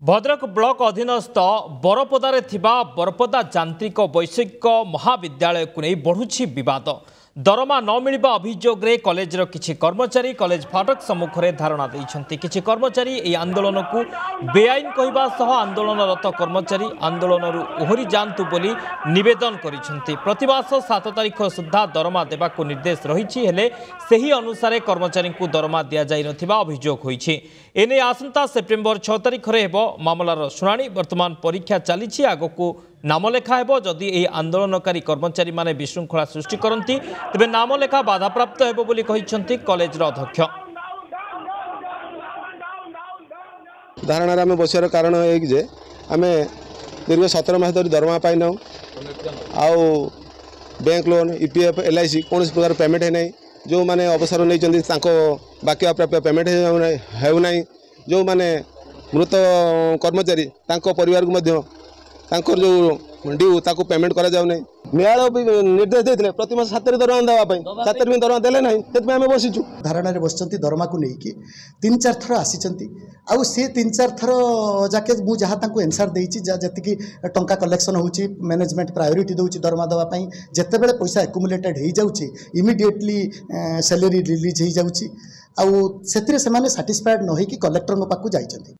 Bhadrak block ଅଧୀନସ୍ଥ ବରପଦାରେ ଥିବା ବରପଦା ଯାନ୍ତ୍ରିକ ବୈଷୟିକ ମହାବିଦ୍ୟାଳୟକୁ ନେଇ ବଢ଼ୁଛି ବିବାଦ। ଦରମା ନ ମିଳିବା ଅଭିଯୋଗରେ କଲେଜର କିଛି କର୍ମଚାରୀ କଲେଜ ଫାଟକ ସମ୍ମୁଖରେ ଧାରଣା ଦେଇଛନ୍ତି। କିଛି କର୍ମଚାରୀ ଏହି ଆନ୍ଦୋଳନକୁ ବେଆଇନ କହିବା ସହ ଆନ୍ଦୋଳନରତ କର୍ମଚାରୀ ଆନ୍ଦୋଳନରୁ ଓହରି ଯାଆନ୍ତୁ ବୋଲି ନିବେଦନ କରିଛନ୍ତି। ପ୍ରତିମାସ 7 ତାରିଖ ସୁଦ୍ଧା ଦରମା ଦେବାକୁ ନିର୍ଦ୍ଦେଶ ରହିଛି, ହେଲେ ସେହି ଅନୁସାରେ କର୍ମଚାରୀଙ୍କୁ ଦରମା ଦିଆଯାଇନଥିବା ଅଭିଯୋଗ ହୋଇଛି। ଏନେଇ ଆସନ୍ତା ସେପ୍ଟେମ୍ବର 6 ତାରିଖରେ ହେବ ମାମଲାର ଶୁଣାଣି। ବର୍ତ୍ତମାନ ପରୀକ୍ଷା ଚାଲିଛି, ଆଗକୁ ନାମଲେଖା ହେବ। ଯଦି ଏହି ଆନ୍ଦୋଳନକାରୀ କର୍ମଚାରୀମାନେ ବିଶୃଙ୍ଖଳା ସୃଷ୍ଟି କରନ୍ତି ତେବେ ନାମଲେଖା ବାଧାପ୍ରାପ୍ତ ହେବ ବୋଲି କହିଛନ୍ତି କଲେଜର ଅଧ୍ୟକ୍ଷ। ଧାରଣାରେ ଆମେ ବସିବାର କାରଣ ଏଇକି ଯେ ଆମେ ଦୀର୍ଘ 17 ମାସ ଧରି ଦରମା ପାଇନାହୁଁ, ଆଉ bank loan, E P F, L I C କୌଣସି ପ୍ରକାର ପେମେଣ୍ଟ ହେଇନାହିଁ। ଯେଉଁମାନେ ଅବସର ନେଇଛନ୍ତି ତାଙ୍କ ବାକି ପ୍ରାପ୍ୟ ପେମେଣ୍ଟ ହେଉନାହିଁ। ଯେଉଁମାନେ ମୃତ କର୍ମଚାରୀ ତାଙ୍କ ପରିବାରକୁ ମଧ୍ୟ ତାଙ୍କର ଯେଉଁ ଡ୍ୟୁ ତାକୁ ପେମେଣ୍ଟ କରାଯାଉନାହିଁ। ନ୍ୟାୟାଳୟ ବି ନିର୍ଦ୍ଦେଶ ଦେଇଥିଲେ ପ୍ରତି ମାସ 7 ତାରିଖ ଦରମା ଦେବା ପାଇଁ, 7 ତାରିଖ ଦରମା ଦେଲେ ନାହିଁ, ସେଥିପାଇଁ ଆମେ ବସିଛୁ। ଧାରଣାରେ ବସିଛନ୍ତି। ଦରମାକୁ ନେଇକି 3 4 ଥର ଆସିଛନ୍ତି, ଆଉ ସେ 3 4 ଥର ଯାକେ ମୁଁ ଯାହା ତାଙ୍କୁ ଏନ୍ସାର୍ ଦେଇଛି, ଯାହା ଯେତିକି ଟଙ୍କା କଲେକ୍ସନ୍ ହେଉଛି ମ୍ୟାନେଜମେଣ୍ଟ ପ୍ରାୟୋରିଟି ଦେଉଛି ଦରମା ଦେବା ପାଇଁ। ଯେତେବେଳେ ପଇସା ଆକୁମୁଲେଟେଡ୍ ହେଇଯାଉଛି ଇମିଡ଼ିଏଟଲି ସାଲେରୀ ରିଲିଜ୍ ହେଇଯାଉଛି, ଆଉ ସେଥିରେ ସେମାନେ ସାଟିସ୍ଫାଏଡ଼୍ ନ ହେଇକି କଲେକ୍ଟରଙ୍କ ପାଖକୁ ଯାଇଛନ୍ତି।